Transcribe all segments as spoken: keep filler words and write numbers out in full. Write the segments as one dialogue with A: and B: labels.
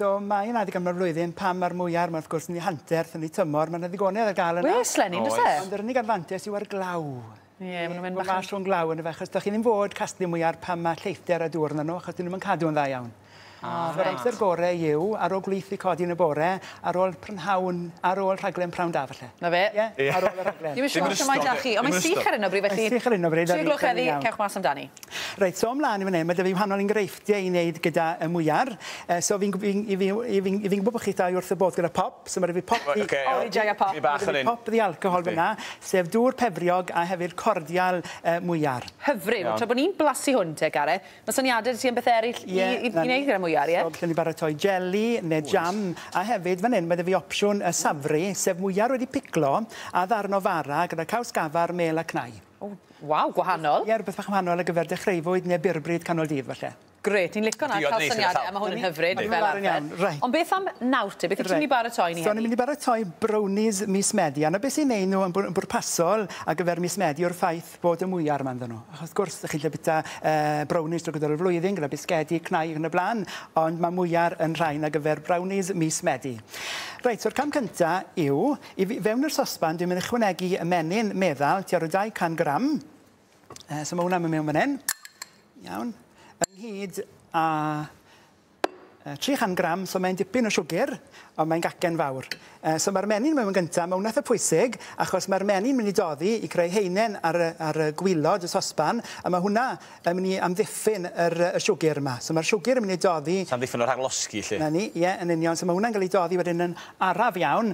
A: So mae yna adeg yma'r flwyddyn pan mae'r mwyar, mae wrth gwrs yn ei hanterth, yn ei tymor, mae yna ddigonedd ar gael yna.
B: Wes, Lenny, does e?
A: Ond yr unig adfantes yw ar glaw.
B: Ie, maen nhw'n mynd
A: bach
B: bach
A: yn... glaw yn y fe, achos da chi ddim fod casglu mwyar pan mae lleithder a dŵr yna nhw, achos dyn nhw'n cadw yn dda iawn. Ah, so, yr amser gorau yw, ar ôl gwlith i codi yn y bore, ar ôl prynhawn, ar ôl rhaglen prawn da, falle.
B: Na fe?
A: Ie, yeah, ar ôl y rhaglen.
B: Ddim yn siŵr os mae da chi, ond mae'n sych ar hyn o bryd, felly...
A: Mae'n sych ar hyn o bryd.
B: Tri gloch heddi, cewch mas amdani.
A: Reit, so ymlaen i fan hyn, mae 'da fi wahanol enghreifftiau i wneud gyda y mwyar. So fi'n gwybod bod chi dau wrth y bodd gyda pop, so mae 'da fi pop...
B: O, fi joio pop.
A: Pop ddi alcohol fyna, sef dŵr pefriog a hefyd cordial mwyar.
B: Hyfryd, tra bod ni'n blasu hwn te, Gareth, mae syniadau ti am beth eraill i wneud gyda mwyar, ie?
A: So, gallwn ni baratoi jeli neu jam, a hefyd fan hyn mae 'da fi opsiwn y safri, sef mwyar wedi piclo a ddarn o fara gyda caws gafar, mel a cnau.
B: O, waw, gwahanol.
A: Ie, rhywbeth bach wahanol ar gyfer dechreufwyd neu byrbryd canol dydd, falle.
B: Grêt, ni'n licio na cael syniadau, a mae hwn yn hyfryd fel arfer. Ond beth am nawr te? Beth wyt ti'n mynd i baratoi ni heddi?
A: So, ni'n mynd i baratoi brownies mis Medi. A na beth sy'n neud nhw yn bwrpasol ar gyfer mis Medi yw'r ffaith bod y mwyar yma ynddyn nhw. Achos wrth gwrs, chi'n gallu bwyta brownies drwy gydol y flwyddyn, gyda bisgedi, cnau ac yn y blaen, ond mae mwyar yn rhain ar gyfer brownies mis Medi. Reit, so'r cam cyntaf yw, i fewn i'r sosban, dwi'n mynd i ychwanegu y menyn meddal, tua rhyw dau cant gram. So mae hwnna'n mynd mewn fan hyn. Iawn. Ynghyd â tri chant gram, so mae'n dipyn o siwgr, ond mae'n gacen fawr. So mae'r menyn mewn gyntaf, mae hwnna eitha pwysig, achos mae'r menyn mynd i doddi i creu heinen ar, ar y gwilod, y sosban, a mae hwnna yn mynd i amddiffyn yr, y siwgr yma. So mae'r siwgr yn mynd i doddi...
C: So amddiffyn o'r rhaglosgi, lle?
A: Na ni, ie, yn union. So mae hwnna'n cael ei doddi wedyn yn araf iawn.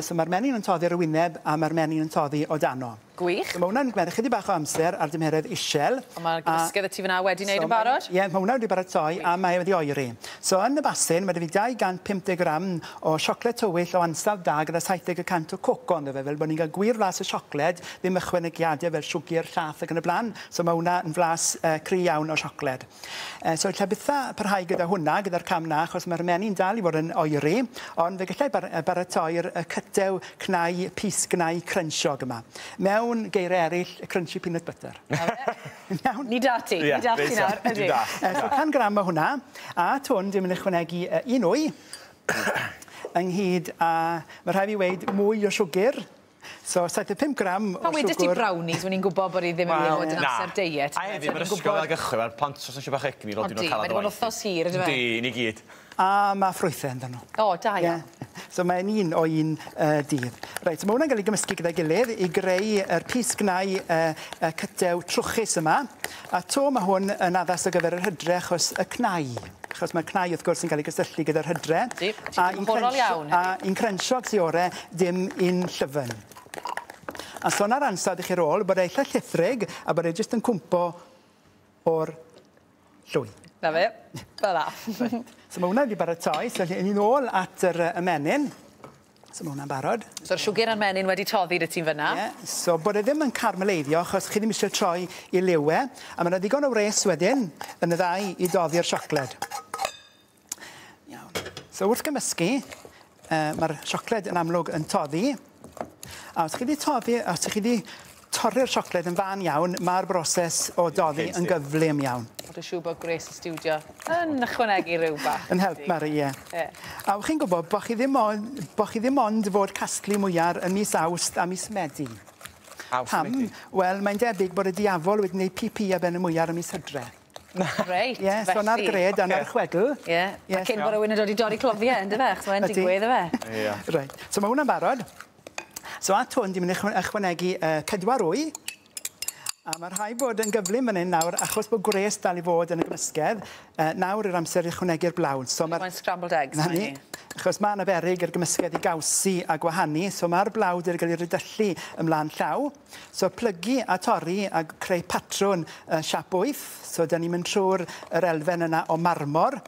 A: So mae'r menyn yn toddi ar y wyneb, a mae'r menyn yn toddi o dano.
B: Gwych.
A: So mae hwnna'n gwneud ychydig bach o amser ar dymheredd isel.
B: Ond mae'r gymysgedd y ti fyna wedi wneud yn barod?
A: Ie, mae hwnna wedi baratoi a mae wedi oeri. So yn y basin, mae 'da fi dau gant pump deg gram o siocled tywyll o ansawdd da gyda saith deg y cant o coco ynddo fe, fel bod ni'n cael gwir flas y siocled, ddim ychwanegiadau fel siwgr, llath ac yn y blaen. So mae hwnna yn flas uh, cry iawn o siocled. Uh, so lle bytha parhau gyda hwnna, gyda'r cam na, achos mae'r menyn dal i fod yn oeri, ond fe gallai bar baratoi'r cytew cnau, pys gnau crunchiog yma. Mewn geiriau eraill, crunchy peanut butter. Iawn?
B: Ni da ti, ni da ti nawr.
C: Ni da.
A: So can gram o hwnna, a at hwn dwi'n mynd i ychwanegu un wy, ynghyd â, mae rhaid fi weud, mwy o siwgr. So, saith deg pump gram o siwgr.
B: Pan wedes ti brownies, o'n i'n gwybod bod i ddim yn mynd i fod yn amser deiet.
C: A hefyd, mae'r ysgol fel gychwyn, mae'r plant os eisiau bach egni, roedd nhw'n cael
B: Mae wedi bod yn wythnos hir, ydw
C: e? Di, ni gyd.
A: A mae ffrwythau ynddyn nhw.
B: O, da iawn.
A: So mae'n un o un uh, dydd. Reit, so mae hwnna'n cael ei gymysgu gyda'i gilydd i greu yr pys gnau uh, uh, cytew trwchus yma. A to mae hwn yn addas ar gyfer yr hydre achos y cnau. Achos mae'r cnau wrth gwrs yn cael ei gysylltu gyda'r hydre.
B: Di, ti'n horol iawn.
A: A un crensiog sy ore, dim un llyfn. A so na'r ansawdd i chi'r ôl, bod e eitha llithrig a bod e jyst yn cwmpo o'r llwy.
B: Na fe, fel 'na.
A: So mae hwnna wedi baratoi, so ni'n ôl at yr ymenyn. So mae hwnna'n barod.
B: So'r siwgr a'r menyn wedi toddi 'da ti'n fyna.
A: Ie, yeah. So bod e ddim yn carmeleiddio, achos chi ddim eisiau troi i liw e. A mae yna ddigon o wres wedyn yn y ddau i doddi'r siocled. Iawn. So wrth gymysgu, uh, mae'r siocled yn amlwg yn toddi. A os chi wedi toddi, os chi wedi torri'r siocled yn fan iawn, mae'r broses o doddi yn gyflym iawn.
B: Dwi'n siŵr bod Grace y stiwdio yn ychwanegu rhyw bach.
A: Yn help, Mari, ie. A chi'n gwybod bod chi ddim ond, bod chi ddim ond fod casglu mwyar yn mis Awst a mis Medi.
C: Awst a Medi?
A: Wel, mae'n debyg bod y diafol wedi gwneud pi-pi ar ben y mwyar ym mis Hydre.
B: Reit,
A: felly. Ie, so na'r gred a na'r chwedl.
B: Ie, a cyn bod rhywun yn dod i dorri cloddiau, yndyfe? Achos mae'n digwydd, yfe?
C: Ie.
A: Reit, so mae hwnna'n barod. So at hwn, dwi'n mynd i ychwanegu pedwar wy. A mae rhaid bod yn gyflym fan hyn nawr, achos bod gwres dal i fod yn y gymysgedd, nawr yw'r amser i ychwanegu'r blawd. So
B: mae'n scrambled eggs.
A: Na ni, achos mae yna beryg i'r gymysgedd i gawsi a gwahanu, so mae'r blawd wedi cael ei rydyllu ymlaen llaw. So plygu a torri a creu patrwn uh, siap wyth, so da ni'n mynd trwy'r yr elfen yna o marmor.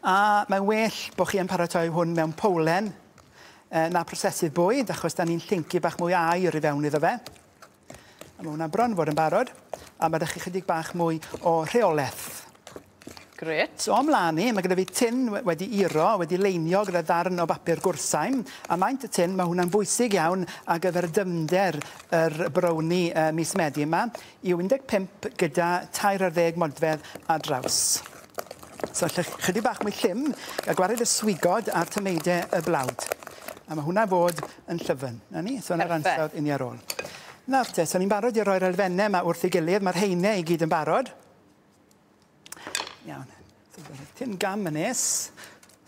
A: A mae'n well bod chi yn paratoi hwn mewn powlen na prosesydd bwyd, achos da ni'n llyncu bach mwy aer i fewn iddo fe. A mae hwnna bron fod yn barod, a mae 'da chi chydig bach mwy o rheolaeth.
B: Grêt.
A: So ymlaen ni, mae gyda fi tin wedi iro, wedi leinio gyda ddarn o bapur gwrsaim, a maint y tin, mae hwnna'n bwysig iawn ar gyfer dyfnder yr brownie uh, mis Medi yma, yw un deg pump gyda tair ar ddeg modfedd ar draws. So chydig bach mwy llym, a gwared y swigod a'r tameidau y blawd. A mae hwnna fod yn llyfn. Na ni? So yna'r ansawdd i ni ar ôl. Nawr te, so ni'n barod i roi'r elfennau yma wrth ei gilydd. Mae'r heinau i gyd yn barod. Iawn. So, tin gam yn nes.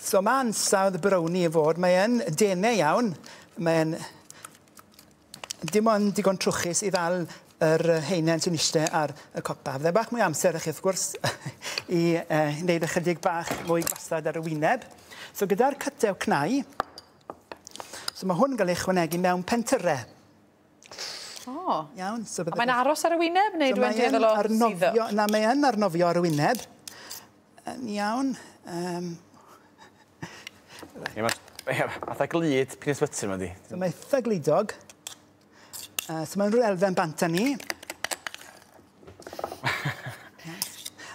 A: So mae ansawdd brownie i fod. Mae'n denau iawn. Mae'n dim ond digon trwchus i ddal yr heinen sy'n eistedd ar y copa. Fydde bach mwy amser i chi, wrth gwrs, i uh, wneud ychydig bach mwy gwastad ar y wyneb. So gyda'r cytew cnau, so mae hwn yn cael ei chwanegu mewn pentyrau.
B: O. Oh.
A: Iawn. So
B: a mae'n aros ar y wyneb, neu so dwi'n dueddol o suddo?
A: Na, mae yn arnofio ar y wyneb. Yn iawn. Um,
C: right. Ie, fatha glud peanut butter yma di.
A: So mae eitha gludog. Uh, so mae'n rhyw elfen bant â ni.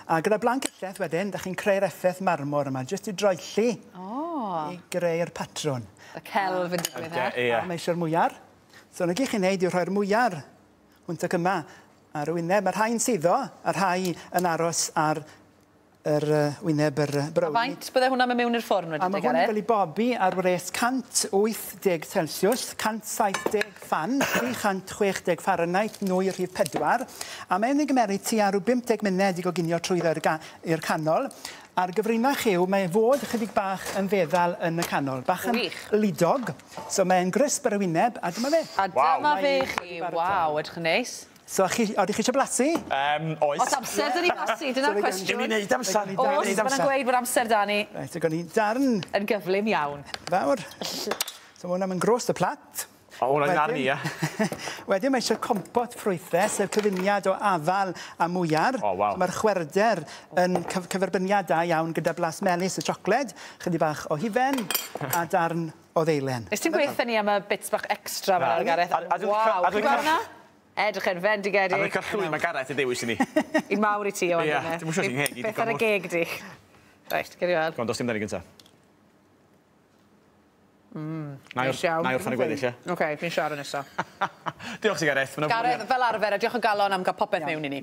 A: A gyda blanc elleth wedyn, da chi'n creu'r effaith marmor yma, jyst i droelli
B: oh.
A: i greu'r patrwn.
B: Y celf yn digwydd, e?
A: A mae eisiau'r mwyar. So na gyd chi'n neud yw rhoi'r mwyar hwnt ac yma ar y wyneb. Mae rhai'n suddo, a rhai yn aros ar yr wyneb yr brownie.
B: A faint bydde hwnna mewn i'r ffwrn wedyn,
A: A mae hwn yn cael ei bobi ar wres cant wyth deg Celsius, cant saith deg fan, tri chant chwech deg Fahrenheit, nwy rhif pedwar. A mae'n ei gymeryd tua rhyw bump deg munud i goginio trwyddo i'r canol. A'r gyfrinach yw, mae fod ychydig bach yn feddal yn y canol. Bach yn lidog. So mae'n grisp ar y wyneb, a dyma fe.
B: A dyma fe chi. Waw, edrych yn neis.
A: So, chi, oeddech chi eisiau blasu?
C: Um, oes.
B: Oes amser da ni blasu, dyna'r cwestiwn.
C: Dim i wneud amser.
B: Oes, maen gweud bod amser da ni.
A: Reit, so gawn ni darn.
B: Yn gyflym iawn.
A: Fawr. So mae hwnna'n mynd gros y plat.
C: O, hwnna'n arni, ia.
A: Wedyn mae eisiau compot ffrwythau, sef cyfuniad o afal a mwyar.
C: O, waw.
A: So mae'r chwerder yn cyferbyniad da iawn gyda blas melys y siocled, chydig bach o hufen a darn o ddeilen.
B: Nes ti'n gweithio ni am y bits bach extra fel Gareth? Waw, ti'n gweld hwnna? Edrych yn fendigedig.
C: A dwi'n cael llwy, mae Gareth yn dewis i ni.
B: Un mawr i ti, Owen.
C: Ie, dwi'n siŵr ti'n hegi.
B: Beth ar y geg di? Reit, geri weld.
C: Go on, dos dim dani gynta.
B: Mm,
C: na i orffen y gweddill, ie.
B: Oce, fi'n siarad nesaf.
C: Diolch ti, Gareth.
B: Gareth, fel arfer, a diolch o galon am gael popeth mewn i ni.